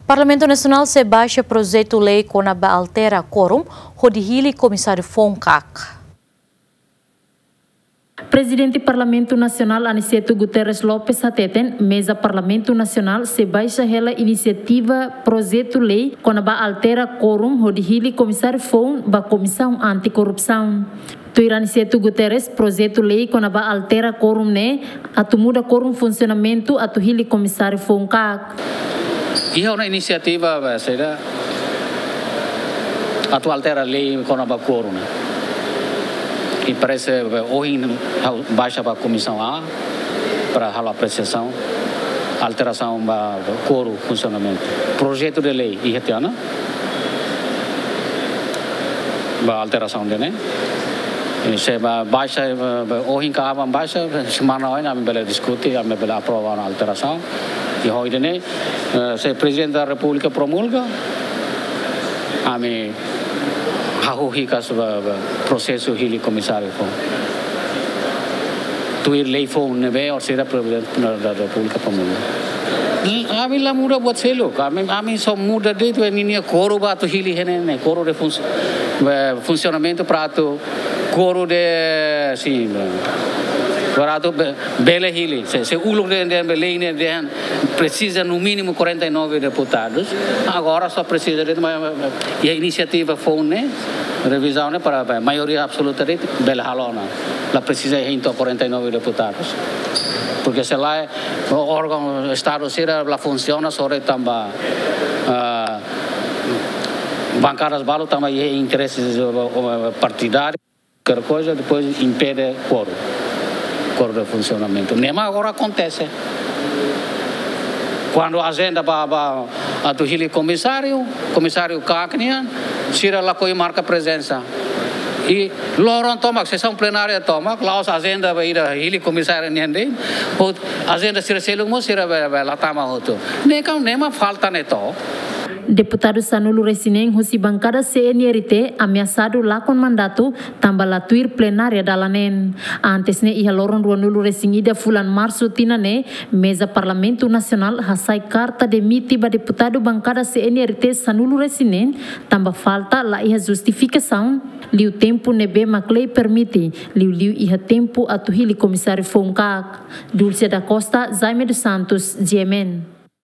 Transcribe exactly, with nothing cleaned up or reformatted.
Parlamentu Nasionál sei baixa projetu lei kona-ba altera kuorum hodi hili komisáriu foun kaak. Prezidente Parlamentu Nasionál Aniceto Guterres Lopes hateten, meza Parlamentu Nasionál sei baixa hela inisiativa projetu lei kona-ba altera kuorum hodi hili komisáriu foun ba Komisaun Anti-Korrupsaun. Tuir Aniceto Guterres, projetu lei kona-ba altera kuorum ne'e atu muda kuorum funsionamentu atu hili komisáriu foun kaak. Iha ona inisiativa, eh, saida, atu altera lei kona-ba kuorum ne'e. I parese, eh, ohin ha'u baixa ba Komisaun A para halo apresiasaun, alterasaun ba kuorum funsionamentu. Projetu de lei iha tiha ona ba alterasaun ida-ne'e. I se ba baixa, eh, ba ohin ka aban baixa, semana oin ami bele diskute, ami bele aprova ona alterasaun. I ho ida-ne'e, eh, se Prezidente da Repúblika promulga, ami hahú hikas ba, ba prosesu hili komisáriu foun. Tuir lei foun ne'ebé orsida Prezidente da Repúblika promulga. Ami la muda buat seluk, ami, ami só muda de'it ninia kuorum ba atu hili iha ne'e, kuorum de fun-, eh, funsionamentu para atu kuorum de, sin, para atu be-, bele hili. Se, se uluk dehan, dehan, be lei ne'e dehan presiza no mínimo quarenta e nove deputados. Agora só presiza de, mas, mas, iha inisiativa foun ne'e, revizaun ne'e para, para maioria absoluta de'it bele halo ona. La presiza iha quarenta e nove deputados. Porque se lae, órgaun Estadu sira la funsiona, só de'it tanba, ah, bankadas balu tanba iha intereses, eh, partidáriu. Kalkular koisa, depois impede kuorum. Kuorum de funsionamentu. Ne'e mak agora akontese. Kuandu ajenda ba, ba atu hili komisáriu, komisáriu kaak nian, sira lakohi marka prezensa. I loron tomak, sesaun plenária tomak, la'ós ajenda ba ida hili komisáriu nian de'it, ou ajenda sira seluk mós sira be, be la tama hotu. Ne'e kan, ne'e mak falta ne'e to. Deputadu sanulu-resin-neen husi bankada C N R T ameasadu lakon mandatu tanba la tuir plenária dala neen. Antes ne'e, iha loron ruanulu-resin-ida fulan Marsu tinan ne'e, meza Parlamentu Nasionál hasai karta demite ba deputadu bankada C N R T sanulu-resin-neen, tanba falta la iha justifikasaun, liu tempu ne'ebé mak lei permite, liuliu iha tempu atu hili komisáriu foun kaak. Dulce da Costa, Jaime dos Santos, G M N.